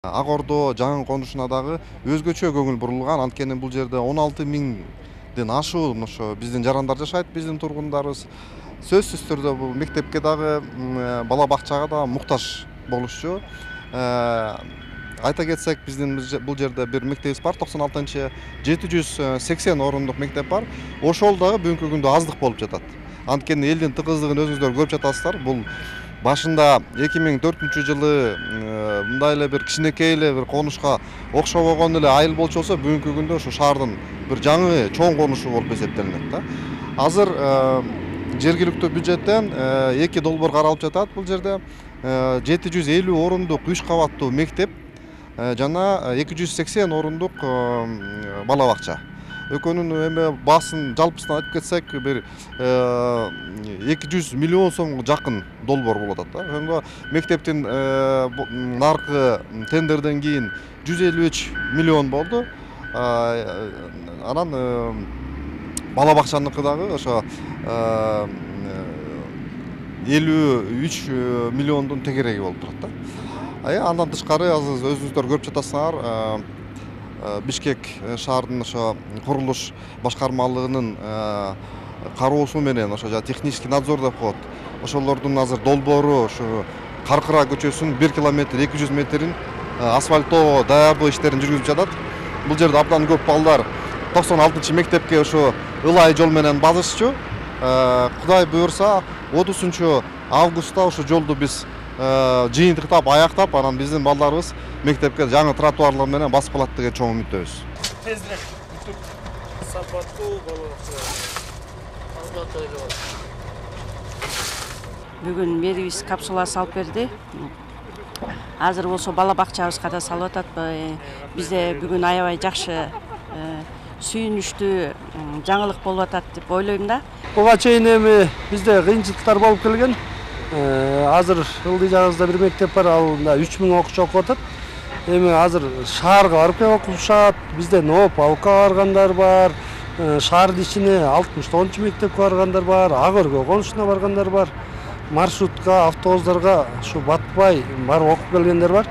Ак Ордо жаңы конушуна дагы өзгөчө көңүл бурулган. Анткени бул жерде 16 миңден ашуун ошо биздин жарандар жашайт, биздин тургундарыбыз. Сөзсүз түрдө бул мектепке дагы, бала бакчага да муктаж болушчу. Айта кетсек, биздин бул жерде бир мектебибиз бар, 96-чы 780 орундук мектеп бар. Ошол дагы бүгүнкү күндө аздык болуп жатат. Анткени элдин тыгыздыгын өзүңүздөр көрүп жатасыздар. Бул башында 2004-жылы мындай эле бир кичинекей эле бир конушка окшобогон эле айыл болчу болсо, бүгүнкү күндө ошо шаардын бир жаңы чоң конушу болуп эсептелинет да. Азыр жергиликтүү бюджеттен 2 долбоор каралып жатат бул жерде. 750 орундук 3 кабаттуу мектеп жана 280 орундук бала бакча. Экөөнүн эме баасын жалпысынан айтып кетсек, бир 200 миллион сомго жакын долбоор болуп атат да. Ошондо мектептин наркы тендерден кийин 153 миллион болду. Анан бала бакчаныкы дагы ошо 53 миллиондун тегереги болуп турат да. Андан тышкары азыр өзүңүздөр көрүп жатасыңар, Бишкек шаардын ошо курулуш башкармалыгынын кароосу менен ошо технический надзор деп коет. Ошолордун азыр долбоору ушу Каркыра көчөсүнүн 1 километр 200 метрин асфальттоо даярдоо иштерин жүргүзүп жатат. Бул жерде абдан көп балдар 96-чы мектепке ошо ылайы жол менен базышчу. Кудай буюрса 30-августта ошо жолду биз жыйынтыктап аяктап, анан биздин балдарыбыз мектепке жаңы тротуарлар менен басып калат деген чоң үмүттөбүз. Тезирээк бүтүп сапаттуу болот. Бүгүн мэрибиз капсула салып берди. Азыр болсо бала бакчабызга да салып атат. Бизде бүгүн аябай жакшы, сүйүнүчтүү жаңылык болуп атат деп ойлойм да. Буга чейин эми бизде кыйынчылыктар болуп келген. Азыр ылдый жагыбызда бир мектеп бар, ал 3000 окуучу окуп атат. Эми азыр шаарга барып келип окушат. Бизде Новополка баргандар бар. Шаардын ичине 60-тоончу мектепке баргандар бар, Ак Өргө конушуна баргандар бар. Маршрутка, автобустарга ушу батпай барып окуп келгендер бар.